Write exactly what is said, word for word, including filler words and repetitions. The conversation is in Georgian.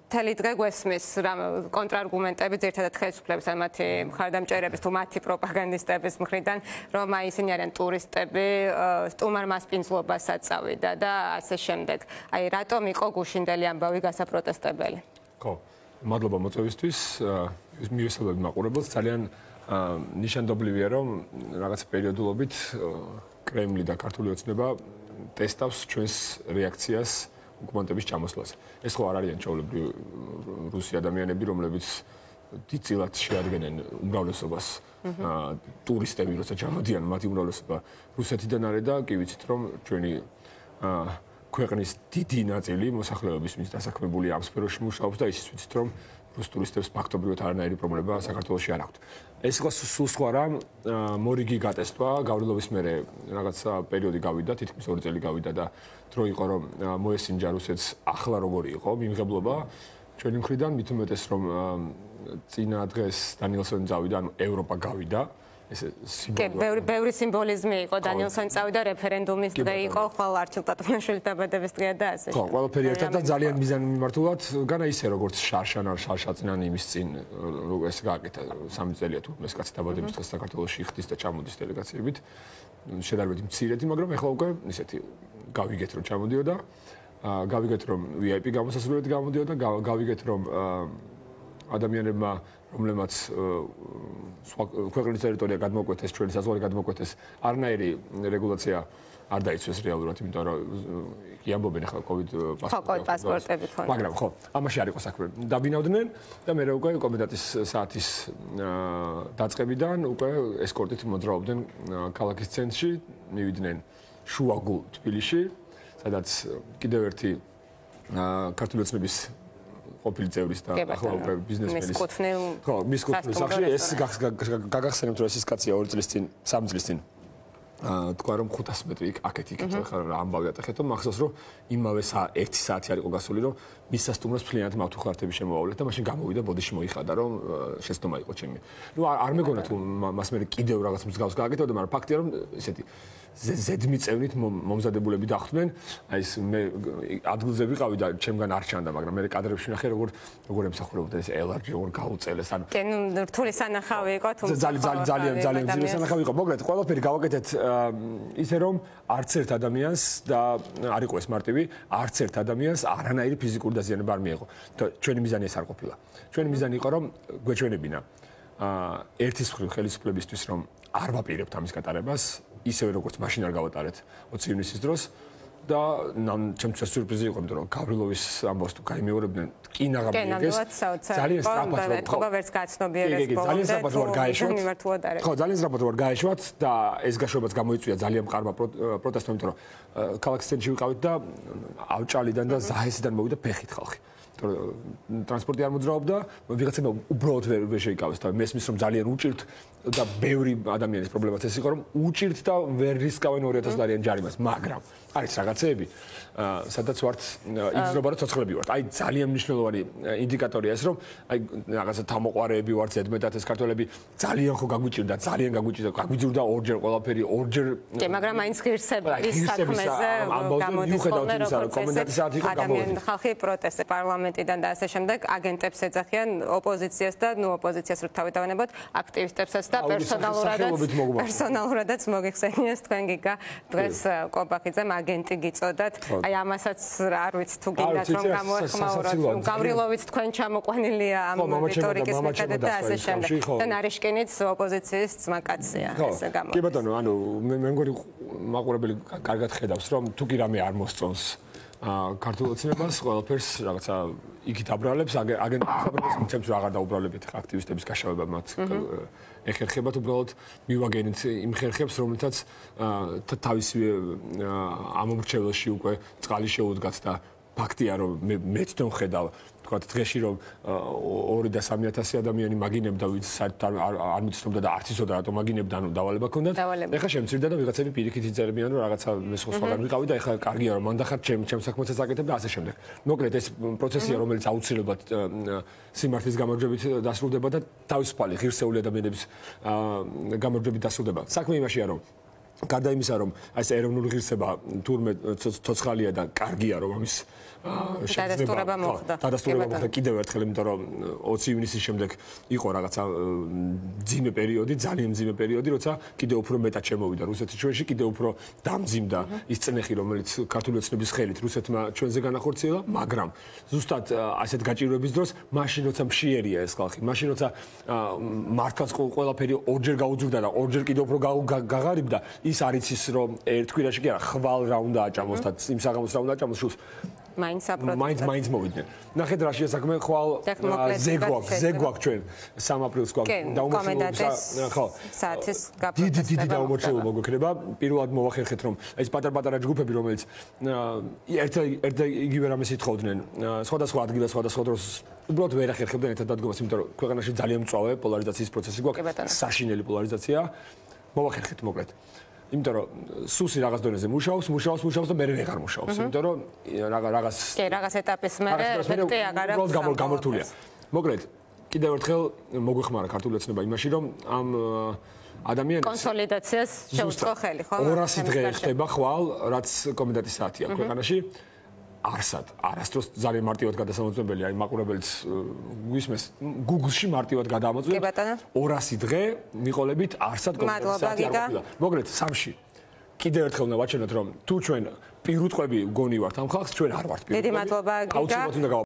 მთელი დღე გვესმის კონტრარგუმენტები ძირითადად ხელისუფლების ან მათი მხარდამჭერების თუ მათი პროპაგანდისტების მხრიდან, რომ აი ისინი არიან ტურისტები, სტუმარ მასპინძლობასაც წავიდა და ასე შემდეგ. აი რატომ იყო გუშინდელი ამბავი გასაპროტესტებელი? ხო, მადლობა მოწვევისთვის. მივესალმები მაყურებელს. ძალიან ნიშანდობლივია, რომ რაღაც პერიოდულობით კრემლი და ქართული ოცნება ტესტავს ჩვენს რეაქციას ოკუპანტების ჩამოსვლას. ეს ხო არ არიან ჩვეულებრივი რუსი ადამიანები, რომლებიც დიდწილად შეადგენენ უმრავლესობას ტურისტები, როცა ჩამოდიან, მათი უმრავლესობა რუსეთიდან არის და კი ვიცით, რომ ჩვენი ქვეყნის დიდი ნაწილი მოსახლეობის მის დასაქმებული ამ სფეროში მუშაობს და ისიც ვიცით, რომ რუს ტურისტებს ფაქტობრივად არანაირი პრობლემა საქართველოში არ აქვთ. ეს იყო სულ სხვა რამ, მორიგი გატესტვა, გავრილობის მერე რაღაცა პერიოდი გავიდა, თითქმის ორი წელი გავიდა და დრო იყო, რომ მოესინჯა რუსეთს ახლა როგორი იყო მიმღებლობა ჩვენი მხრიდან, მით უმეტეს, რომ წინა დღეს დანიელსონი წავიდა, ანუ ევროპა გავიდა. ეს სიმბოლური ბევრი სიმბოლიზმი იყო დანიელსონი წავიდა, რეფერენდუმის დღე იყო, ხვალ არჩილ ტატუაშვილის დაბადების დღეა და ასე. ხო, ყველაფერი ერთად და ძალიან მიზანმიმართულად, განა ისე როგორც შარშან არ შარშაწნანი იმის წინ ეს გააკეთა სამი წელია თუ ეს კაცი დაბადების დღეს საქართველოში ხდის და ჩამოდის დელეგაციებით. შედარებით მცირედი, მაგრამ ეხლა უკვე ისეთი გავიგეთ რომ ჩამოდიოდა. გავიგეთ რომ ვი აი პი გამოსასვლელად გამოდიოდა, გავიგეთ რომ ადამიანებმა რომლებმაც სხვა ქვეყნის ტერიტორია გადმოკვეთეს, ჩვენი საზღვარი გადმოკვეთეს, არნაირი რეგულაცია არ დაიცვეს რეალურად, იმიტომ რომ კი ამბობენ ახლა COVID პასპორტები ქონდა. მაგრამ ხო, ამაში არ იყო საქმე. დაბინავდნენ და მე უკვე კომენდანტის საათის დაწყებიდან უკვე ესკორტით მოძრაობდნენ ქალაქის ცენტრში, მივიდნენ შუაგულ თბილისში, სადაც კიდევ ერთი ქართული ოცნების ყოფილი წევრის და ახლა უკვე ბიზნესმენის ხო, მის კუთვნილ სახში ეს გაგახსენებთ რომ ეს ის კაცია ორი წლის წინ, სამი წლის წინ თქვა რომ ხუთას მეტრი აქეთ იქეთ ხარ ამბავი ატეხეთ, მახსოვს რომ იმავე ერთი საათი არ იყო გასული, რომ მის სასტუმროს მთლიანად მავთუხლართები შემოავლეთ და მაშინ გამოვიდა ბოდიში მოიხადა, რომ შეცდომა იყო ჩემი. ნუ არ მეგონა თუ მას მე კიდევ რაღაც მსგავს გააკეთებდა, მაგრამ ფაქტია რომ ესეთი ზედმიწევნით მომზადებულები დახვდნენ. აი ეს მე ადგილზე ვიყავი და ჩემგან არ ჩანდა, მაგრამ მე კადრებში ვნახე როგორ როგორ ემსახურებოდა ეს ელარჯი, როგორ გაუწელეს. ანუ კი, ნუ რთული სანახავი იყო, თუმცა ძალიან ძალიან ძალიან ძლიერი სანახავი იყო. მოკლედ, ყველაფერი გავაკეთეთ ისე რომ არც ერთ ადამიანს და არ იყო ეს მარტივი, არც ერთ ადამიანს არანაირი ფიზიკური დაზიანება არ მიიღო. ჩვენი მიზანი ეს არ ყოფილა. ჩვენი მიზანი იყო რომ გვეჩვენებინა ერთის მხრივ ხელისუფლებისთვის რომ არ ვაპირებთ ამის გატარებას, ისევე როგორც მაშინ არ გავატარეთ ოცი ივნისის დროს და ჩემთვის სიურპრიზი იყო, იმიტომ რომ გავრილოვის ამბავს თუ გაიმეორებდნენ, კი ნაღამიეგეს ძალიან სწრაფად რომ ვერც გაცნობიერეს ძალიან სწრაფად რომ გაეშვათ. ხო, ძალიან სწრაფად რომ გაეშვათ და ეს გაშვებაც გამოიწვია ძალიან მყარმა პროტესტმა, იმიტომ რომ ქალაქის ცენტრში ვიყავით და ავჭალიდან და ზაჰესიდან მოვიდა ფეხით ხალხი. ტრანსპორტი არ მოძრაობდა, ვიღაცებმა უბრალოდ ვერ შეიკავეს და მესმის რომ ძალიან უჭირთ და ბევრი ადამიანის პრობლემაც ეს იყო რომ უჭირთ და ვერ რისკავენ ორი ათას დოლარიან ჯარიმას, მაგრამ არის რაღაცეები, სადაც ვართ იგრძნობა რომ ცოცხლები ვართ. აი ძალიან მნიშვნელოვანი ინდიკატორია ეს რომ აი რაღაცა თამოყვარეები ვართ, ზედმეტად ეს ქართველები ძალიან ხო გაგვიჭირდა, ძალიან გაგვიჭირდა, გაგვიძურდა ორჯერ ყველაფერი, ორჯერ კი, მაგრამ მაინც ღირსების საქმეზე გამოდის ხოლმე რომ კომენდანტის საათი იყო გამოვიდა. ხალხი პროტესტი პარლამენტიდან და ასე შემდეგ აგენტებს ეძახიან ოპოზიციას და ნუ ოპოზიციას რო თავი დავანებოთ აქტივისტებსაც და პერსონალურადაც პერსონალურადაც მოგიხსენიეს თქვენ გიგა დღეს კობახიძემ აგენტი გიწოდათ. აი ამასაც არ ვიცი თუ გინდათ რომ გამოეხმაუროთ. გავრილოვიც თქვენ ჩამოყვანილია ამ რიტორიკის მიხედვით და ასე შემდეგ. და ნარიშკინიც ოპოზიციის ძმაკაცია ესე გამო. კი ბატონო, ანუ მე მგონი მაყურებელი კარგად ხედავს რომ თუ კი რამე არ მოსწონს ქართულ ოცნებას ყველაფერს რაღაცა იქით აბრალებს აგენტებს ჩემთვის აღარ დაუბრალებით აქტივისტების გაშავება მათ ეხერხებათ უბრალოდ მივაგენით იმ ხერხებს რომელთაც თავისი ამომრჩეველში უკვე წყალი შეუდგათ და ფაქტია რომ მეც თვითონ ხედავ თქვა დღეში რომ ორი და სამი ათასი ადამიანი მაგინებდა ვინც საერთოდ არ მიცნობდა და არც იცოდა რატომ მაგინებდა, ანუ დავალება ქონდათ. ეხლა შემცირდა და ვიღაცები პირიქით იწერებიან რომ რაღაცა მე სხვაგან ვიყავი და ეხლა კარგია რომ მან დახარ ჩემ ჩემ საქმესაც აკეთებ და ასე შემდეგ. მოკლედ ეს პროცესია რომელიც აუცილებლად სიმართლის გამარჯვებით დასრულდება და თავისუფალი ღირსეული ადამიანების გამარჯვებით დასრულდება. საქმე იმაშია რომ გარდა იმისა, რომ ეს ეროვნული ღირსება თურმე ცოცხალია და კარგია, რომ ამის დადასტურება მოხდა. დადასტურება მოხდა კიდევ ერთხელ, იმიტომ რომ ოცი ივნისის შემდეგ იყო რაღაცა ძიმე პერიოდი, ძალიან ძიმე პერიოდი, როცა კიდევ უფრო მეტად შემოვიდა რუსეთის ჩვენში, კიდევ უფრო დამძიმდა ის წნეხი, რომელიც ქართული ოცნების ხელით რუსეთმა ჩვენზე განახორციელა, მაგრამ ზუსტად ასეთ გაჭირვების დროს, მაშინ როცა მშიერია ეს ხალხი, მაშინ როცა მართლაც ყველაფერი ორჯერ გაუძვრდა და ორჯერ კიდევ უფრო გაღარიბდა, ის არ იცის რომ ერთ კვირაში კი არა, ხვალ რა უნდა აჭამოს და იმ საღამოს რა უნდა აჭამოს, შულს მაინც აპროტესტად. მაინც მაინც მოვიდნენ. ნახეთ რა შეასაქმე ხვალ ზეგვაქ, ზეგვაქ ჩვენ სამ აპრილს გვაქვს დაუმორჩილება, ხო, საათის გაფრთხილება. დიდი დიდი დაუმორჩილება მოგვექნება. პირველად მოვახერხეთ რომ ეს პატარ-პატარა ჯგუფები, რომელიც ერთ ერთ იგივე რამეს ითხოვდნენ, სხვადასხვა ადგილას, სხვადასხვა დროს უბრალოდ ვერ ახერხებდნენ ერთად დადგომას, იმიტომ რომ ქვეყანაში ძალიან მწვავე პოლარიზაციის პროცესი გვაქვს, საშინელი პოლარიზაცია. მოვახერხეთ მოკლედ. იმიტომ რომ სუსი რაღაც დონეზე მუშაობს, მუშაობს, მუშაობს და მე ვეღარ მუშაობს, იმიტომ რომ რაღაც კი, რაღაც ეტაპის მერე ეფექტი აღარ აქვს. უბრალოდ გამორთულია. მოკლედ, კიდევ ერთხელ მოგვეხმარა ქართული ოცნება იმაში, რომ ამ ადამიანის კონსოლიდაციას შეუწყო ხელი, ხო? ორასი დღე ხდება ხვალ, რაც კომენდანტის საათია ქვეყანაში. არსად, არასდროს ძალიან მარტივად გადასამოწმებელი, აი მაყურებელს გვისმეს, Google-ში მარტივად გადაამოწმებთ. ორასი დღე მიყოლებით არსად კომენდანტის საათი არ ყოფილა. მოკლედ, სამში. კიდევ ერთხელ უნდა ვაჩვენოთ, რომ თუ ჩვენ პირუტყვები გონი ვართ ამ ხალხს, ჩვენ არ ვართ პირუტყვები. დიდი მადლობა გიგა.